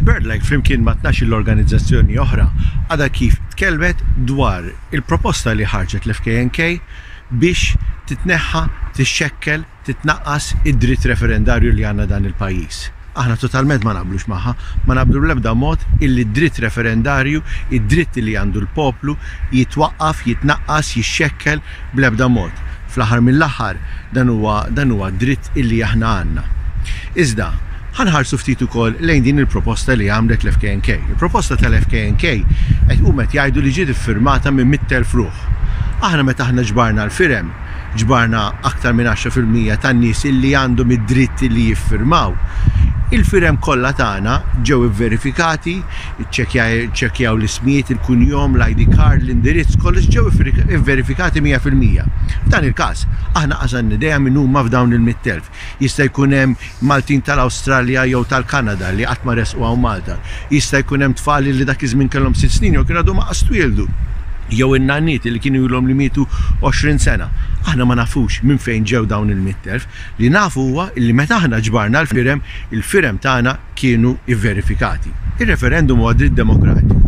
Il-BirdLife flimkien ma' 12-il organizzazzjoni oħra għadha kif tkellmet dwar il-proposta li ħarġet l-FKNK biex titneħħa, tixxekkel, titnaqqas id-dritt referendarju li għandna dan il-pajjiż. Aħna totalment ma naqblux magħha, ma naqblu bl-ebda mod illi d-dritt referendarju, id-dritt li għandu l-poplu jitwaqqaf, jitnaqqas, jixxekkel bl-ebda mod. Fl-aħħar mill-aħħar dan huwa dan huwa dritt illi aħna għandna. Iżda, ħa nħarsu ftit ukoll lejn din il-proposta li għamlet l-FKNK. Il-proposta tal-FKNK qed huma qed jgħidu li ġiet iffirmata minn 100,000 ruħ. Aħna meta aħna ġbarna l-firem, ġbarna aktar minn 10% tan-nies illi għandhom id-dritt illi jiffirmaw. Il-firem kollha tagħna ġew ivverifikati, iċċekkjaw l-ismijiet, il-kunjom, l-ID card, l-indirizz, kollox ġew ivverifikati 100%. F'dan il-każ, aħna qas għandna idea min huma f'dawn il-100,000. Jista' jkun hemm Maltin tal-Awstralja jew tal-Kanada li qatt ma resqu hawn Malta. Jista' jkun hemm tfal li dak iż-żmien kellhom sitt snin jew kienu għadhom qas twieldu. Jew in-nanniet li kienu ilhom li mietu 20 sena. Aħna ma nafux minn fejn ġew dawn il-100,000. Li nafu huwa li meta aħna ġbarna l-firem, il-firem tagħna kienu vverifikati. Ir-referendum huwa dritt demokratiku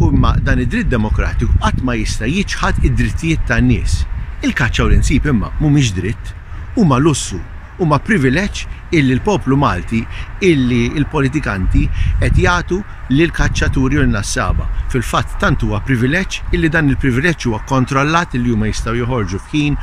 u imma dan id-dritt demokratiku qatt ma jista' jiċħad id-drittijiet tan-nies. Il-kaċċa u l-insib imma mhumiex dritt, huma lussu, huma privileġġ illi l-poplu Malti, illi l-politikanti qed jagħtu lill-kaċċaturi u lin-nassaba. Fil-fatt tant huwa privileġġ illi dan il-privileġġ huwa kkontrollat illi huma jistgħu joħorġu f'ħin,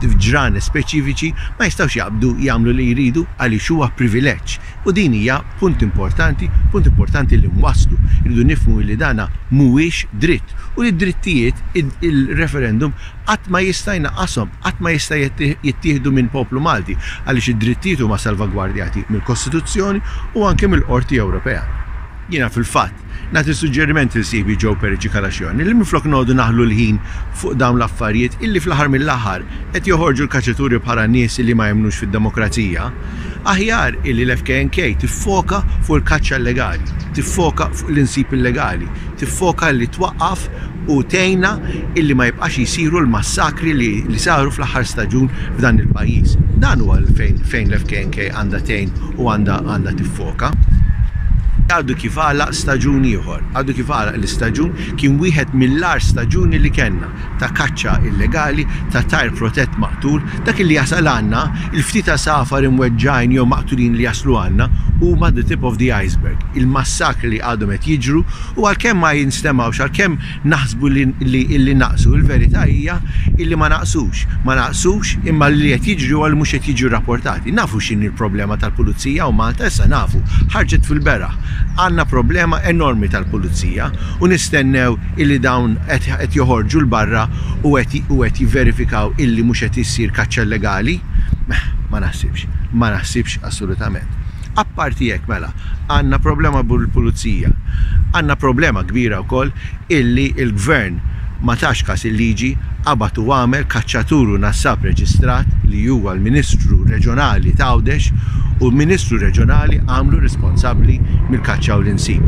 f'ġranet speċifiċi, ma jistgħux jaqbdu jagħmlu li jridu għaliex huwa privileġġ. U din hija punt importanti, punt importanti li nwasslu. Irridu nifhmu illi dana mhuwiex dritt u li d-drittijiet il-referendum qatt ma jista' jnaqqashom, qatt ma jista' jittieħdu minn poplu Malti għaliex id-drittijiet huma salvagwardjati mill-Kostituzzjoni u anke mill-Qorti Ewropea. Jiena fil-fatt nagħti suġġeriment lil sieħbi Joe Perici Calascione li minflok noqogħdu naħlu l-ħin fuq dawn l-affarijiet illi fl-aħħar mill-aħħar qed joħorġu l-kaċċaturi bħala nies illi ma jemmnux fid-demokrazija, aħjar illi l-FKNK tiffoka fuq il-kaċċa illegali, tiffoka fuq l-insib illegali, tiffoka li twaqqaf u tgħinna illi ma jibqax jsiru l-massakri li li saru fl-aħħar staġun f'dan il-pajjiż. Dan huwa fejn fejn l-FKNK għandha tgħin u għandha għandha tiffoka. Għadu kif għalaq staġun ieħor, għadu kif għalaq l-istaġun, kien wieħed mill-agħar staġuni li kellna ta' kaċċa illegali, ta' tajr protett maqtul, dak illi jasal għandna, il-ftit għasafar imweġġgħin jew maqtulin li jaslu għandna huma the tip of the iceberg. Il-massakri li għadhom qed jiġru U għalkemm ma jinstemgħux, għalkemm naħsbu li li naqsu, il-verità hija illi ma naqsux. Ma naqsux imma li qed jiġri huwa li mhux qed jiġu rrapportati. Nafu x'inhi l-problema tal-pulizija hawn Malta, issa nafu, ħarġet fil-beraħ. Għandna problema enormi tal-pulizija u nistennew illi dawn qed joħorġu 'l barra u qed u qed jivverifikaw illi mhux qed issir kaċċa illegali? Ma naħsibx. Ma naħsibx assolutament. Apparti hekk mela, għandna problema bil-pulizija. Għandna problema kbira wkoll illi l-Gvern ma tax kas il-liġi, qabad u għamel kaċċatur u nassab reġistrat li huwa l-Ministru Reġjonali t'Għawdex u l-Ministru Reġjonali għamlu responsabbli mill-kaċċa u l-insib.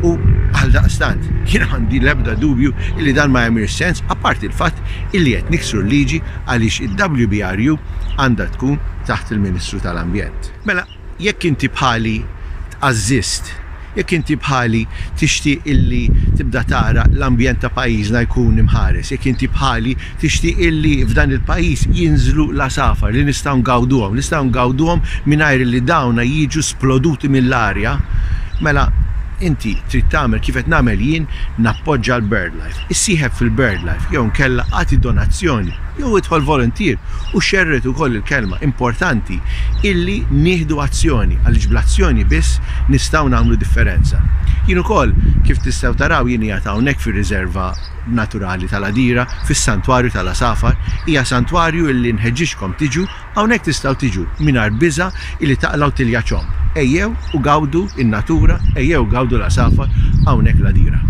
U għaldaqstant jien m'għandi l-ebda dubju illi dan ma jagħmilx sens apparti l-fatt illi qed niksru l-liġi għaliex il-WBRU għandha tkun taħt il-Ministru tal-Ambjent. Mela, jekk inti bħali tqażżist, jekk inti bħali tixtieq illi tibda tara l-ambjent ta' pajjiżna jkun imħares, jekk inti bħali tixtieq illi f'dan il-pajjiż jinżlu l-għasafar li nistgħu ngawduhom, nistgħu ngawduhom mingħajr illi dawna jiġu sploduti mill-arja, mela inti trid tagħmel kif qed nagħmel jien, nappoġġa l-BirdLife. Issieħeb fil-BirdLife jew inkella agħti donazzjoni jew idħol voluntier u xerred ukoll il-kelma. Importanti illi nieħdu azzjoni għaliex bl-azzjoni biss nistgħu nagħmlu differenza. Jien ukoll, kif tistgħu taraw, jien qiegħed hawnhekk fir-riserva naturali tal-Għadira, fis-Santwarju tal-Għasafar. Hija santwarju illi nħeġġiġkom tiġu, hawnhekk tistgħu tiġu mingħajr biża' illi taqlgħu tilja ċomb. Ejjew u gawdu n-natura, ejjew gawdu l-għasafar hawnhekk l-Għadira.